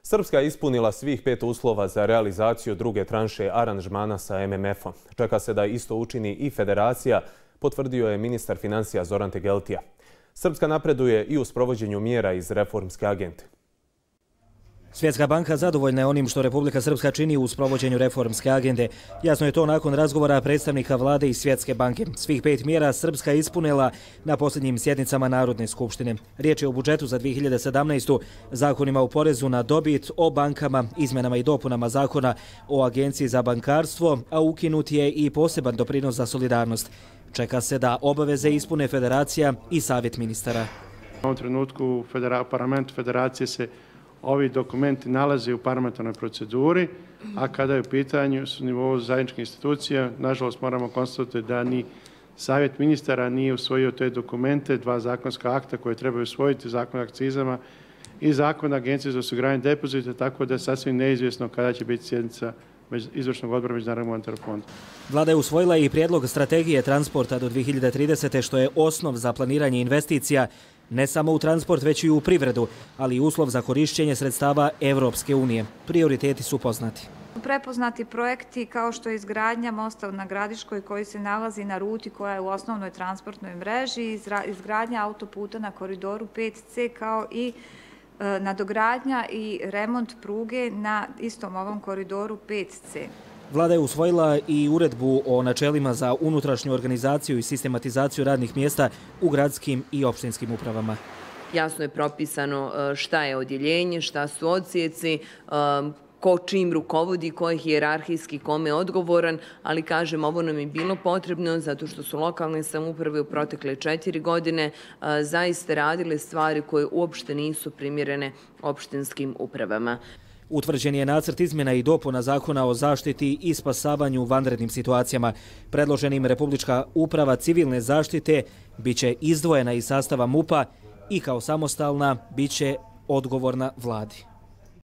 Srpska je ispunila svih 5 uslova za realizaciju druge tranše aranžmana sa MMF-om. Čeka se da isto učini i federacija, potvrdio je ministar financija Zoran Tegeltija. Srpska napreduje i u sprovođenju mjera iz reformske agende. Svjetska banka zadovoljna je onim što Republika Srpska čini u sprovođenju reformske agende. Jasno je to nakon razgovora predstavnika vlade i Svjetske banke. Svih 5 mjera Srpska je ispunila na posljednjim sjednicama Narodne skupštine. Riječ je o budžetu za 2017. zakonima o porezu na dobit, o bankama, izmjenama i dopunama zakona o agenciji za bankarstvo, a ukinut je i poseban doprinos za solidarnost. Čeka se da obaveze ispune federacija i savjet ministara. U ovom trenutku u parlamentu federacije se ovi dokumenti nalaze u parlamentarnoj proceduri, a kada je u pitanju s nivou zajedničkih institucija, nažalost moramo konstatovati da ni savjet ministara nije usvojio te dokumente, 2 zakonska akta koje trebaju usvojiti, zakon o akcizama i zakon agencije za osiguranje depozita, tako da je sasvim neizvjesno kada će biti sjednica izvršnog odbora Međunarodnog monetarnog fonda. Vlada je usvojila i prijedlog strategije transporta do 2030. što je osnov za planiranje investicija ne samo u transport, već i u privredu, ali i uslov za korišćenje sredstava Evropske unije. Prioriteti su poznati. Prepoznati projekti kao što je izgradnja mosta na Gradiškoj koji se nalazi na ruti koja je u osnovnoj transportnoj mreži, izgradnja autoputa na koridoru 5C kao i nadogradnja i remont pruge na istom ovom koridoru 5C. Vlada je usvojila i uredbu o načelima za unutrašnju organizaciju i sistematizaciju radnih mjesta u gradskim i opštinskim upravama. Jasno je propisano šta je odjeljenje, šta su odsjeci, ko čim rukovodi, ko je hijerarhijski, kome je odgovoran, ali kažem, ovo nam je bilo potrebno zato što su lokalne samouprave u protekle 4 godine zaista radile stvari koje uopšte nisu primjerene opštinskim upravama. Utvrđen je nacrt izmjena i dopuna zakona o zaštiti i spasavanju u vanrednim situacijama. Predloženim Republička uprava civilne zaštite biće izdvojena iz sastava MUP-a i kao samostalna biće odgovorna vladi.